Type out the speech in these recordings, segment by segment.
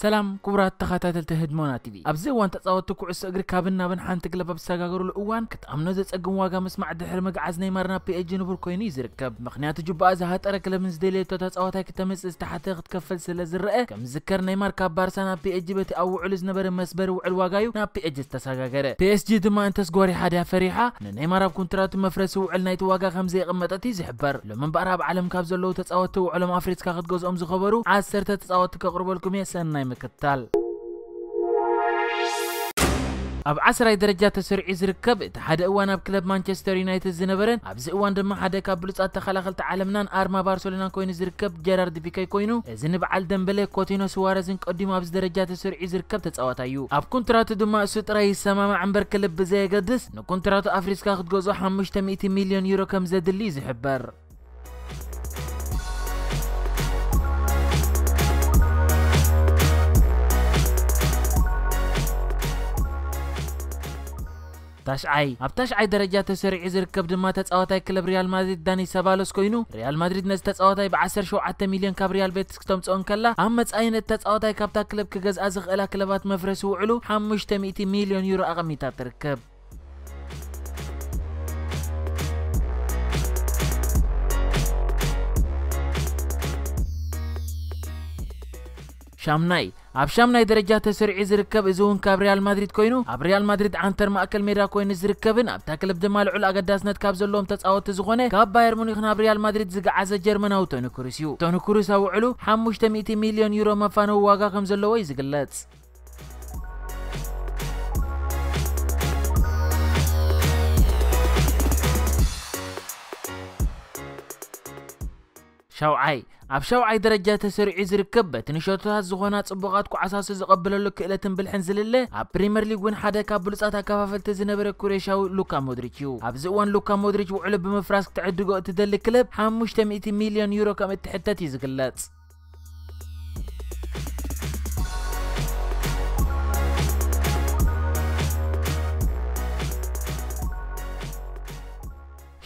ሰላም ክቡራት ተኸታተልቲ ህድሞና ቲቪ። ኣብዚ እዋን ተጻወትቲ ኩዕሶ እግሪ ካብን ናብን ሓንቲ ክለብ ኣብ ዝሰጋገሩሉ እዋን ክትኣምኖ ዘጸግም ዋጋ ምስማዕ ድሕሪ ምግዓዝ ኔይማር ናብ ፒኤስጂ ንቡር ኮይኑ እዩ ዝርከብ። ምኽንያቱ ጁባኣ ዝሃጠረ ክለብ ንዝደልየቶ ተጻዋታይ ክተምጽእ ዝተሓተ ክትከፍል ስለ ዝረአ ከም ዝዝከር ኔይማር ካብ ባርሳ ናብ ፒኤስጂ በቲ ኣብ ውዕሉ ዝነበረ መስበሪ ውዕል ዋጋ እዩ ናብ ፒኤስጂ ዝተሰጋገረ። ፒኤስጂ ድማ እንተስ ጎሪሓ ድያ ፈሪሓ ንኔይማር ኣብ ኮንትራቱ መፍረሲ ውዕል ናይቲ ዋጋ ከም ዘየቐመጠት እዩ ዝሕበር። ሎሚ እምበኣር ኣብ ዓለም ካብ ዘለዉ ተጻወትቲ ውዕሎም ኣፍሪስካ ክትገዝኦም ዝኸበሩ ዓሰርተ ተጻወትቲ ከቕርበልኩም እየ። ሰናይ ምክትታል። ኣብ ዓስራይ ደረጃ ተሰሪዑ ዝርከብ እቲ ሓደ እዋን ኣብ ክለብ ማንቸስተር ዩናይትድ ዝነበረን ኣብዚ እዋን ድማ ሓደ ካብ ብሉጻት ተኸላኸልቲ ዓለምናን ኣርማ ባርሰሎናን ኮይኑ ዝርከብ ጀራርድ ፒኬ ኮይኑ፣ እዚ ንበዓል ደምበለ፣ ኮቲኖ፣ ስዋረዝን ቀዲሙ ኣብዚ ደረጃ ተሰሪዑ ዝርከብ ተጻዋታይ እዩ። ኣብ ኮንትራቱ ድማ እሱ ጥራይ ይሰማማዕ እምበር ክለብ ብዘየገድስ ንኮንትራቱ ኣፍሪስካ ክትገዝኦ ሓሙሽተ ሚእቲ ሚልዮን ዩሮ ከም ዘድሊ እዩ ዝሕበር። ታሽዓይ፣ ኣብ ታሽዓይ ደረጃ ተሰሪዑ ዝርከብ ድማ ተጻዋታይ ክለብ ሪያል ማድሪድ ዳኒ ሰባሎስ ኮይኑ፣ ሪያል ማድሪድ ነዚ ተጻዋታይ ብ ዓሰርተ ሸውዓተ ሚልዮን ካብ ሪያል ቤቲስ ክተምጽኦ እንከላ፣ ኣብ መጻኢ ነቲ ተጻዋታይ ካብታ ክለብ ክገዝኣ ዝኽእላ ክለባት መፍረሲ ውዕሉ ሓሙሽተ ሚእቲ ሚልዮን ዩሮ ኣቐሚጣ ትርከብ። ሻምናይ፣ ኣብ ሻምናይ ደረጃ ተሰሪዑ ዝርከብ፣ እዚ እውን ካብ ሪያል ማድሪድ ኮይኑ፣ ኣብ ሪያል ማድሪድ ዓንተር ማእከል ሜዳ ኮይኑ ዝርከብን ኣብታ ክለብ ድማ ልዑል ኣገዳስነት ካብ ዘለዎም ተጻወትቲ ዝኾነ፣ ካብ ባየር ሙኒክ ናብ ሪያል ማድሪድ ዝገዓዘ ጀርመናዊ ቶኒ ክሩስ እዩ። ቶኒ ክሩስ ኣብ ውዕሉ ሓሙሽተ ሚእቲ ሚልዮን ዩሮ መፋነዊ ዋጋ ከም ዘለዎ እዩ ዝግለጽ። ሻውዓይ፣ ኣብ ሻውዓይ ደረጃ ተሰሪዑ ዝርከብ፣ በቲ ንሸቶታት ዝኾና ጽቡቓት ኳዕሳሱ ዝቐብለሉ ክእለትን ብልሕን ዝልለ፣ ኣብ ፕሪምየር ሊግ እውን ሓደ ካብ ብሉጻት ኣከፋፈልቲ ዝነበረ ኩሬሻዊ ሉካ ሞድሪች እዩ። ኣብዚ እዋን ሉካ ሞድሪች ውዕሉ ብምፍራስ ክትዕድጎ እትደሊ ክለብ ሓሙሽተ ሚእቲ ሚልዮን ዩሮ ከም እትሕተት እዩ ዝግለጽ።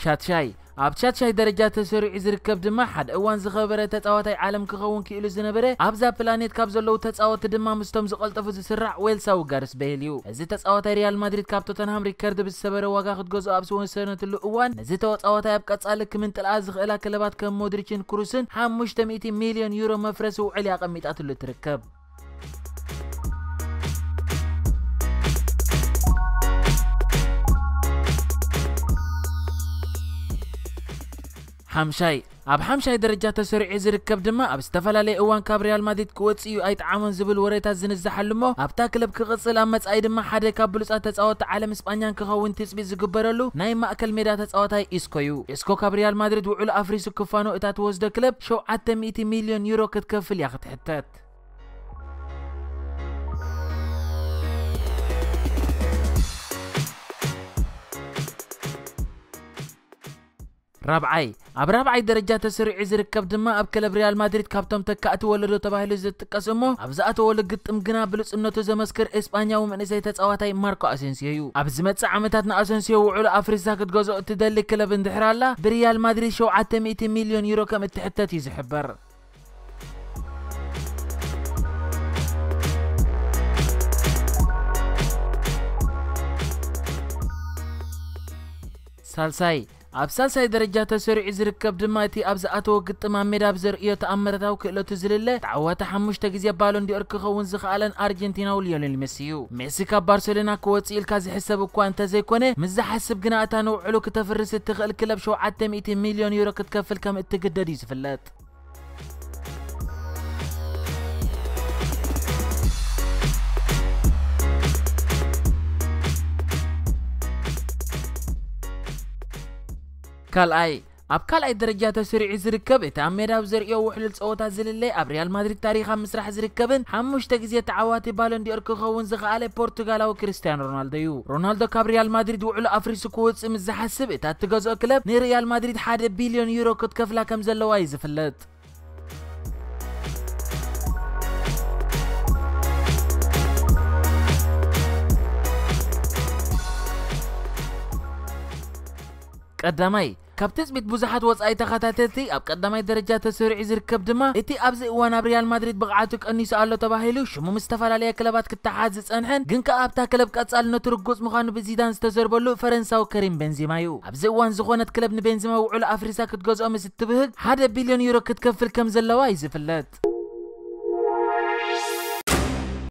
ሻትሻይ፣ ኣብ ሻትሻይ ደረጃ ተሰሪዑ ዝርከብ ድማ ሓደ እዋን ዝኸበረ ተጻዋታይ ዓለም ክኸውን ክኢሉ ዝነበረ፣ ኣብዛ ፕላኔት ካብ ዘለዉ ተጻወትቲ ድማ ምስቶም ዝቐልጠፉ ዝስራዕ ዌልሳዊ ጋርስ ቤይል እዩ። እዚ ተጻዋታይ ሪያል ማድሪድ ካብ ቶተንሃም ሪከርድ ብዝሰበረ ዋጋ ክትገዝኦ ኣብ ዝወሰነትሉ እዋን፣ ነዚ ተጻዋታይ ኣብ ቀጻሊ ክምንጥልኣ ዝኽእላ ክለባት ከም ሞድሪችን ክሩስን ሓሙሽተ ሚእቲ ሚልዮን ዩሮ መፍረሲ ውዕል እያ ኣቐሚጣትሉ ትርከብ። ሓምሻይ፣ ኣብ ሓምሻይ ደረጃ ተሰሪዑ ዝርከብ ድማ ኣብ ዝተፈላለየ እዋን ካብ ሪያል ማድሪድ ክወጽእ እዩ ኣይጠዓሞን ዝብል ወሬታት ዝንዛሓሉ እሞ ኣብታ ክለብ ክቕጽል ኣብ መጻኢ ድማ ሓደ ካብ ብሉጻት ተጻወትቲ ዓለም እስጳኛን ክኸውን ትጽቢት ዝግበረሉ ናይ ማእከል ሜዳ ተጻዋታይ ኢስኮ እዩ። ኢስኮ ካብ ሪያል ማድሪድ ውዕሉ ኣፍሪሱ ክፋኖ እታ ትወስዶ ክለብ ሸውዓተ ሚእቲ ሚልዮን ዩሮ ክትከፍል እያ ክትሕተት። ራብዓይ፣ ኣብ ራብዓይ ደረጃ ተሰሪዑ ዝርከብ ድማ ኣብ ክለብ ሪያል ማድሪድ ካብቶም ተካእቲ ወለዶ ተባሂሉ ዝጥቀስ እሞ ኣብ ዝኣተወሉ ግጥም ግና ብሉጽነቱ ዘመስክር እስጳኛዊ መንእሰይ ተጻዋታይ ማርኮ ኣሴንሲዮ እዩ። ኣብ ዝመጽእ ዓመታት ንኣሰንሲዮ ውዕሉ ኣፍሪሳ ክትገዝኦ እትደሊ ክለብ እንድሕር ኣላ፣ ብሪያል ማድሪድ ሸውዓተ ሚእቲ ሚልዮን ዩሮ ከም እትሕተት እዩ ዝሕበር። ሳልሳይ፣ ኣብ ሳልሳይ ደረጃ ተሰሪዑ ዝርከብ ድማ እቲ ኣብ ዝኣተወ ግጥም ኣብ ሜዳ ብዘርእዮ ተኣምራታዊ ክእለቱ ዝልለ ተዓዋቲ ሓሙሽተ ግዜ ባሎን ዲኦር ክኸውን ዝኸኣለን ኣርጀንቲናዊ ሊዮኔል ሜሲ እዩ። ሜሲ ካብ ባርሴሎና ክወጽእ ኢልካ ዝሕሰብ እኳ እንተዘይኮነ፣ ምስ ዝሓስብ ግና እታ ንውዕሉ ክተፍርስ እትኽእል ክለብ ሸውዓተ ሚእቲ ሚልዮን ዩሮ ክትከፍል ከም እትግደድ እዩ ዝፍለጥ። ካልኣይ፣ ኣብ ካልኣይ ደረጃ ተሰሪዑ ዝርከብ እቲ ኣብ ሜዳ ኣብ ዘርእዮ ውሕሉል ጸወታ ዝልለ ኣብ ሪያል ማድሪድ ታሪኽ ኣብ ምስራሕ ዝርከብን ሓሙሽተ ግዜ ተዓዋቲ ባሎን ዲኦር ክኸውን ዝኸኣለ ፖርቱጋላዊ ክርስቲያኖ ሮናልዶ እዩ። ሮናልዶ ካብ ሪያል ማድሪድ ውዕሉ ኣፍሪሱ ክወጽእ ምስ ዝሓስብ እታ እትገዝኦ ክለብ ንሪያል ማድሪድ ሓደ ቢልዮን ዩሮ ክትከፍላ ከም ዘለዋ እዩ ዝፍለጥ። ቀዳማይ፣ ካብ ትጽቢት ብዙሓት ወጻኢ ተኸታተልቲ ኣብ ቀዳማይ ደረጃ ተሰሪዑ ዝርከብ ድማ፣ እቲ ኣብዚ እዋን ኣብ ሪያል ማድሪድ ብቕዓቱ ቀኒሱ ኣሎ ተባሂሉ ሽሙ ምስ ዝተፈላለያ ክለባት ክተሓዝ ዝጸንሐን ግን ከኣ ኣብታ ክለብ ቀጻልነቱ ርጉጽ ምዃኑ ብዚዳን ዝተዘርበሉ ፈረንሳዊ ከሪም ቤንዚማ እዩ። ኣብዚ እዋን ዝኾነት ክለብ ንቤንዚማ ውዕሉ ኣፍሪሳ ክትገዝኦ ምስ እትብህግ ሓደ ቢልዮን ዩሮ ክትከፍል ከም ዘለዋ እዩ ዝፍለጥ።